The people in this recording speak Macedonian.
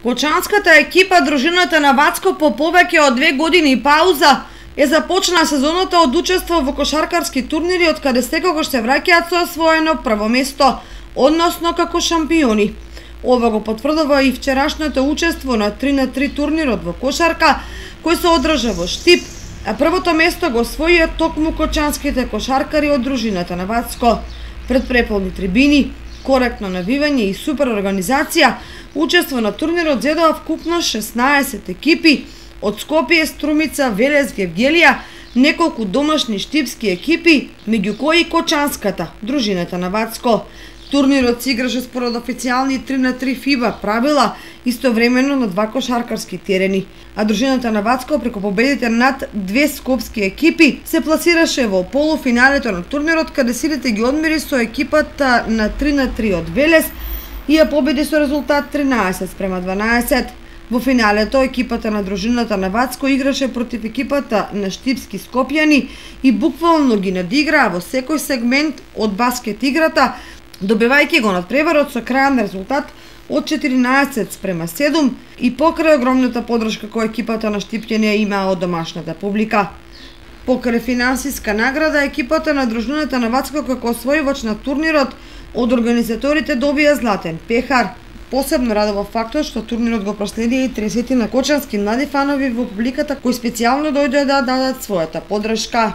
Кочанската екипа дружината на Вацко по повеќе од 2 години пауза е започна сезоната од учество во кошаркарски турнири, од каде секогаш се враќаат со освоено прво место, односно како шампиони. Ова го потврдува и вчерашното учество на 3-на-3 турнирот во кошарка, кој се одржа во Штип, а првото место го освоија токму кочанските кошаркари од дружината на Вацко. Пред преполни трибини, коректно навивање и супер организација, учество на турнирот зедоа вкупно 16 екипи од Скопје, Струмица, Велес, Гевгелија, неколку домашни штипски екипи, меѓу кои кочанската, дружината на Вацко. Турнирот се играше според официјални 3-на-3 FIBA правила, истовремено на 2 кошаркарски терени, а дружината на Вацко преку победите над 2 скопски екипи се пласираше во полуфиналето на турнирот, каде силите ги одмери со екипата на 3-на-3 од Велес и ја победи со резултат 13-12. Во финалето екипата на дружината на Вацко играше против екипата на штипски скопјани и буквално ги надиграа во секој сегмент од баскет играта, добивајќи го надпреварот со крајен резултат од 14-7 и покрај огромната подршка која екипата на штипјани имаа од домашната публика. Покрај финансиска награда, екипата на дружината на Вацко како освојувач на турнирот од организаторите добија златен пехар. Посебно радува фактот што турнирот го проследија и 30 на кочански млади фанови во публиката кои специјално дојдоа да дадат својата подршка.